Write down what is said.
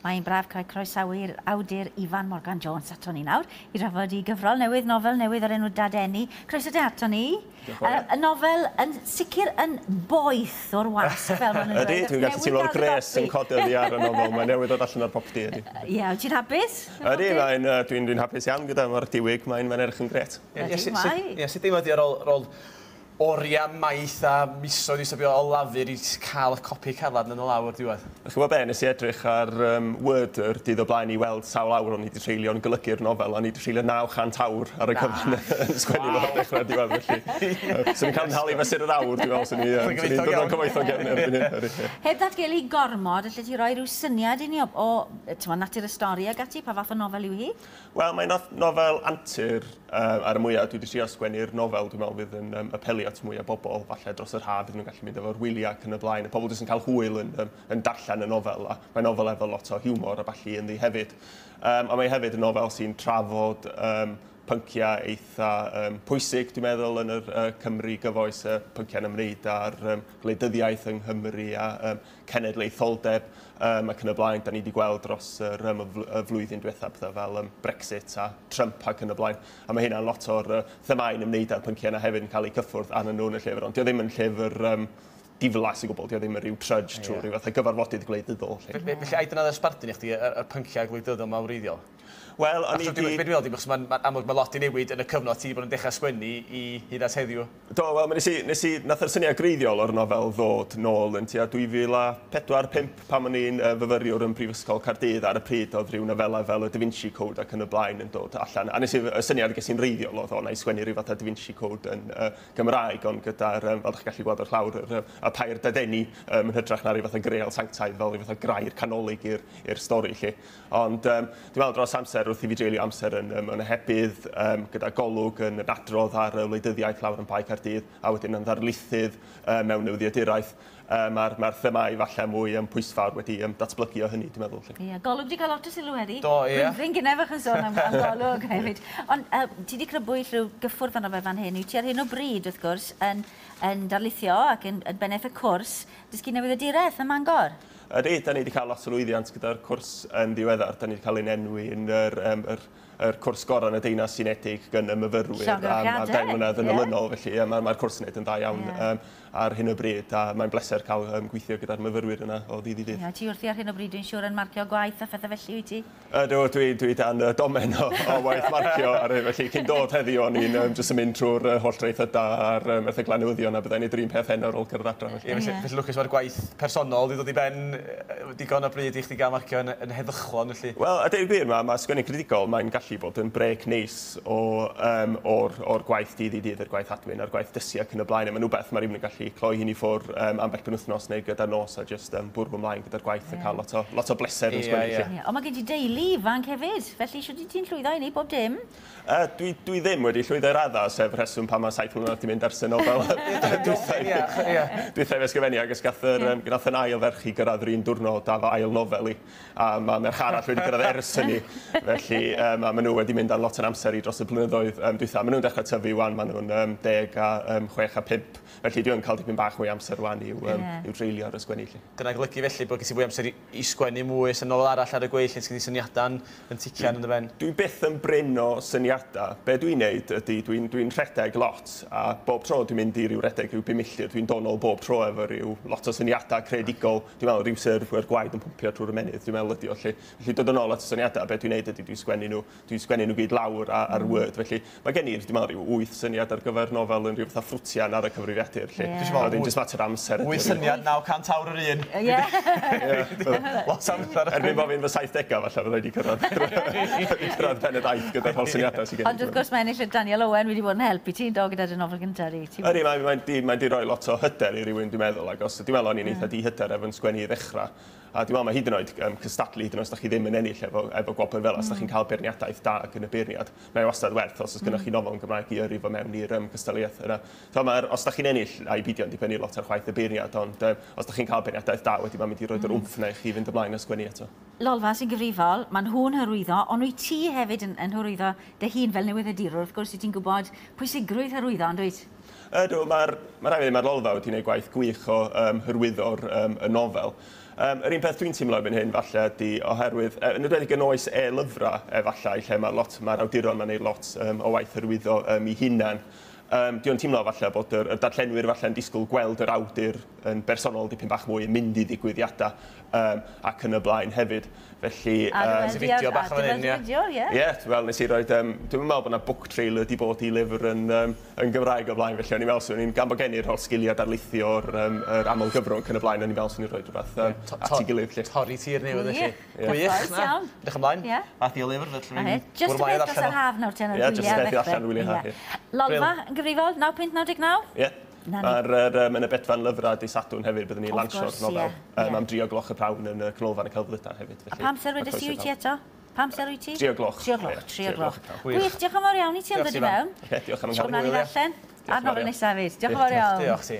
Mae'n braf cael croesawu'r awdur Ifan Morgan Jones ato ni nawr i drafod i gyfrol newydd, nofel newydd o'r enw Dadeni. Croeso te ato ni. Y nofel yn sicr yn boeth o'r wasg, fel maen nhw'n dweud. Ydy, dwi'n gallu teimlo'r gres yn codi oddi ar y nofel. Mae'n newydd dod allan o'r popty, ydy. Ie, wyt ti'n hapus? Ydy, dwi'n dwi hapus iawn gyda mae'r diwyg, mae'n edrych yn gret. Ie, sut deimlad di ar ôl oriau maith a misoedd i sbio o lafur i cael y copi calad yn y lawr diwedd? Chi'n gwybod be, nes i edrych ar Word yr dydd o blaen i weld sawl awr o'n i wedi treulio yn golygu'r nofel, o'n i wedi treulio 900 awr ar y cyfan yn sgwennu fo o'r dechrau diwedd, felly. Swn i'n cael yn halu fesur yr awr, dwi'n meddwl, swn i'n dod o'n cyfoethog iawn erbyn hyn. Heb ddatgelu gormod, allet ti roi rhyw syniad i ni o natur y stori ag ati, pa fath o nofel yw hi? Wel, mae'n nofel antur ar y mwyaf. Dwi wedi trio sgwennu'r nofel, dwi'n meddwl fydd yn apelio at mwy o bobl, falle dros yr haf, bydd nhw'n gallu mynd efo'r wyliau ac yn y blaen. Y pobl jyst yn cael hwyl yn darllen y nofel, a mae'n nofel efo lot o hiwmor a ballu ynddi hefyd. A mae hefyd yn nofel sy'n trafod pynciau eitha pwysig, dwi'n meddwl, yn yr Cymru gyfoes, pynciau'n ymwneud â'r gwleidyddiaeth yng Nghymru a cenedlaetholdeb ac yn y blaen. Da ni wedi gweld dros y flwyddyn diwethaf pethau fel Brexit a Trump ac yn y blaen. A mae hynna'n lot o'r themau'n ymwneud â'r pynciau yna hefyd yn cael eu cyffwrdd arnyn nhw yn y llyfr. Ond dio ddim yn llyfr diflas i gwbl, dio ddim yn rhyw trudge trwy rhyw fath o gyfarfodydd gwleidyddol. Felly, ai dyna oedd y sbardun i chdi, y pynciau gwleidyddol yma wreiddiol? Wel, o'n i di... Dwi'n meddwl, achos mae'n amlwg mae lot i newid yn y cyfnod ti bod yn dechrau sgwennu i hyd at heddiw. Do, wel, nath yr syniad greiddiol o'r nofel ddod nôl yn tua 2004-5 pan o'n i'n fyfyriwr yn Prifysgol Caerdydd. Ar y pryd oedd rhyw nofelau fel y Da Vinci Code ac yn y blaen yn dod allan. A nes i, y syniad ges i'n reiddiol oedd o, na i sgwennu rhyw fath o Da Vinci Code yn Gymraeg, ond gyda'r, fel ydych chi'n gallu gweld o'r llawr, y pair dadeni yn hytrach na rhyw fath o greal sanctaidd fel rhyw fath o grair canolig i'r stori, lle. Ond dwi'n meddwl dros amser, wrth i fi dreulio amser yn ohebydd gyda Golwg yn adrodd ar y wleidyddiaeth lawr yn Bae Caerdydd, a wedyn yn ddarlithydd mewn newyddiaduraeth. Mae'r themau falle mwy pwysfawr wedi datblygu o hynny, dwi'n meddwl. Ie, Golwg wedi cael lot o sylw heddi. Do, ie. Rwy'n gynnau fach yn sôn am Golwg hefyd. Ond ti wedi crybwyll rhyw gyffwrdd arno fe fan hyn. Wyt ti ar hyn o bryd, wrth gwrs, yn darlithio ac yn bennaeth y cwrs dysgu newyddiaduraeth ym Mangor. Ydy, da ni wedi cael lot o lwyddiant gyda'r cwrs yn ddiweddar. Da ni wedi cael ein enwi yn yr cwrs gorau yn y Deyrnas Unedig gan y myfyrwyr am 10 mlynedd yn olynol. Felly mae'r cwrs yn gwneud yn dda iawn ar hyn o bryd, a mae'n bleser cael gweithio gyda'r myfyrwyr yna o ddydd i ddydd. Ie, ti wrthi ar hyn o bryd, dwi'n siŵr, yn marcio gwaith a phethau felly, wyt ti? Ydw, dwi dan domen o waith marcio ar hyn, felly cyn dod heddiw o'n i'n jyst yn mynd trwy'r holl draethodau a'r erthyglau newyddion, a byddai'n neud yr un peth heno ar ôl cyrraedd adra. Ie, felly lwcus mae'r gwaith personol wedi dod i ben digon o bryd i chdi gael marcio yn heddychlon, felly. Wel, a deud y gwir, mae sgwennu critigol, mae'n gallu bod yn brêc neis o'r gwaith dydd i dydd, yr gwaith admin a'r gwaith dysgu ac yn y blaen. Mae'n rhywbeth mae rhywun yn gallu cloi hyn i ffwrdd ambell penwythnos neu gyda'r nos a jyst bwrw ymlaen gyda'r gwaith a cael lot o bleser yn sgwennu. Ond mae gen ti deulu ifanc hefyd, felly shwt wyt ti'n llwyddo i wneud bob dim? Dwi ddim wedi llwyddo i'r raddau, sef rheswm pan mae 7 mlynedd wedi mynd ers y nofel. Dwytha i fe sgrifennu, ac gath yn ail ferch i gyrraedd yr un diwrnod a fy ail nofel i, a mae merch arall wedi gyrraedd ers hynny, felly maen nhw wedi mynd ar lot o'n amser i dros y blynyddoedd dwytha. Maen nhw'n dechrau tyfu wan, maen nhw'n 10 a 6 a 5, felly dwi'n cael dipyn bach mwy amser wan i'w dreulio ar y sgwennu. Dyna golygu felly bod gen ti fwy amser i sgwennu mwy, sy'n nofel arall ar y gweill, neu sgyn ti syniadau'n yn tician yn dy ben? Dwi byth yn brin o syniadau. Be dwi'n neud ydy, dwi'n rhedeg lot, a bob tro dwi'n mynd i ryw redeg rhyw 5 milltir, dwi'n dod nôl bob tro efo ryw lot o syniadau creadigol. Dwi'n meddwl rhyw syrfwyr gwaed yn pwmpio trwy'r ymennydd, dwi'n meddwl ydi o. Felly dod yn ôl at y syniadau, be dwi'n neud ydy dwi'n sgwennu nhw gyd lawr ar Word. Felly mae gen i, dwi'n meddwl, rhyw 8 syniad ar gyfer nofel yn rhyw fatha ffrwtian ar y cyfrifiadur. Dwi'n jyst mater amser. 8 syniad, 900 awr yr un. Ie. Lot amser. Erbyn bod fi'n fy 70au falle fydda i wedi cyrraedd pen y daith gyda'r holl syniadau sydd gen i. Ond wrth gwrs mae ennill y Daniel Owen wedi bod yn help i ti, do, gyda dy nofel gyntaf di. Ydy, mae'n di roi lot o hyder i rywun, dwi'n meddwl. Ac os dwi'n meddwl o'n i'n eitha dihyder efo'n sgwennu i ddechrau. A dwi'n meddwl mae hyd yn oed cystadlu, hyd yn oed os da chi ddim yn ennill efo gwobr fel, os da chi'n cael beirniadaeth da ac yn y beirniad, mae wastad werth os oes gennych chi nofel yn Gymraeg i yrru fo mewn i'r cystadleuaeth yna. So, os da chi'n ennill, a'i beidio yn dibynnu lot ar chwaith y beirniad, ond os da chi'n cael beirniadaeth da, wedyn mae'n mynd i roi'r wmff yna i chi fynd ymlaen a sgwennu eto. Lolfa sy'n gyfrifol, maen nhw'n hyrwyddo, ond wyt ti hefyd yn hyrwyddo dy hun fel newyddiadurwr, wrth gwrs wyt ti'n gwybod pwysigrwydd hyrwyddo, ond wyt? Ydw, mae rhaid i fi, mae'r Lolfa wedi gwneud gwaith gwych o hyrwyddo'r y nofel. Yr un peth dwi'n teimlo erbyn hyn falle ydy oherwydd, yn enwedig yn oes e-lyfrau efallai, lle mae lot, mae'r awduron ma'n neud lot o waith hyrwyddo i hunan. Dwi yn teimlo falle bod yr darllenwyr falle yn disgwyl gweld yr awdur yn bersonol dipyn bach mwy yn mynd i ddigwyddiadau ac yn y blaen hefyd. Felly... A dy fideo bach o fan hyn, ie. Fideo, ie. Ie, wel, nes i roed... Dwi'm yn meddwl bod yna book trailer di bod i lyfr yn Gymraeg o blaen, felly o'n i'n meddwl swn i'n, gan bod gen i'r holl sgiliau darlithio'r yr aml gyfrwng yn y blaen, o'n i'n meddwl swn i'n rhoi rhywbeth at ei gilydd. Lle. Torri tir newydd, felly. Gwych, na. Edrych ymlaen. Ie. Math i o lyfr, felly Just y beth dros yr haf nawr, ten, Ie, just y beth allan wyliau haf. Lolfa yn gyfrifol, 9.99? Ie. Ar yn y Bedfan Lyfrau dydd Sadwrn hefyd, byddwn ni'n lansio'r nofel am 3 o gloch y prawn yn y Canolfan y Celfyddydau hefyd. A pam amser wedes i wyt ti eto? Pam amser wyt ti? 3 o gloch. 3 o gloch, 3 o gloch. Gwych, diolch yn fawr iawn i ti am ddod i mewn. Diolch am yn cael. Siwr allan. A'r nofel nesaf hefyd. Diolch yn fawr iawn. Diolch ti.